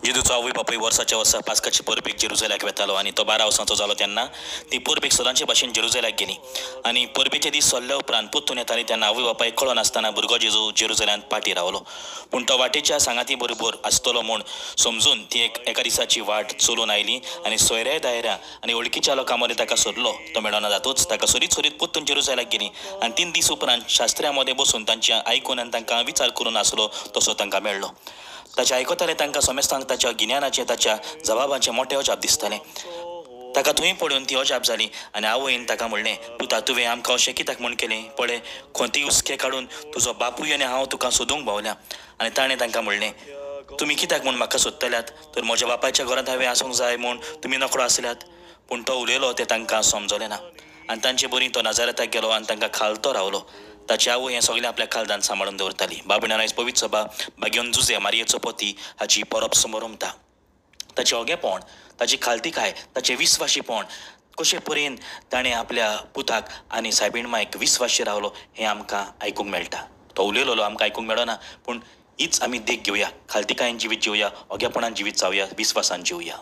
जेजूचो आवय बापूय वर्साच्या वर्सा पास्काचे परबेक जेरुजल्याक वेतालो आनी तो 12 वर्सांचो जालो तेन्ना ती परबेक सदांचे भाशेन जेरुजल्याक गेली आनी परबेचे दीस सरले उपरांत परतून येताली तेन्ना आवय बापायक कळोन आसतना भुरगो जेजू जेरुजल्यांत पाटी रावलो. पूण तो वाटेच्या सांगाती बरोबर आसतलो म्हूण समजून ती एका दिसाची वाट चलून आयली आनी सोयऱ्या दायऱ्या आनी वळखीच्या लोकां मदें ताका सोदलो. तो मेळना जातूच ताका सोदीत सोदीत परतून जेरुजल्याक गेली आनी 3 दीस उपरांत शास्त्र्या मदें बसून तांचे आयकून आनी तांकां विचार करून आसलो तसो तांकां मेळ्ळो. ताचें आयकताले तांकां समेस्तांक ताच्या गिन्यानाचें ताच्या जबाबाचें मोटें अजाप दिसतालें. ताका थंय पळोवन ती अजाप जाली आनी आवयन ताका म्हणलें, पुता तुवें आमकां अशें कित्याक म्हूण केलें? पळय खोंती हुस्के काडून तुजो बापूय आनी हांव तुका सोदूंक भोंवल्या. आनी ताणें तांकां म्हणलें, तुमी कित्याक म्हूण म्हाका सोदतल्यात? तर म्हज्या बापायच्या घरांत हांवें आसूंक जाय म्हूण तुमी नकळो आसल्यात. पूण तो उलयलो तें तांकां समजलें ना आनी तांचे बरी तो नाजारेताक गेलो आनी तांकां खालतो रावलो. ताची आवय हें सगळें आपल्या खालदान सांबाळून दवरताली. बाबीणान आयज पवित्र सभा भाग्योन जुजे मारयेचो पती हाची परब समरमता. ताचें ओगेपण, ताची खालतीकाय, ताचें विस्वाशीपण कशे परेन ताणें आपल्या पुताक आनी सायबीण मायक विस्वाशी रावलो हें आमकां आयकूंक मेळटा. तो उलयलोलो आमकां आयकूंक मेळना, पूण हीच आमी देख घेवया, खालतीकायेन जिवीत जिवया, ओगेपणान जिवीत जावया, विस्वासान जिवया.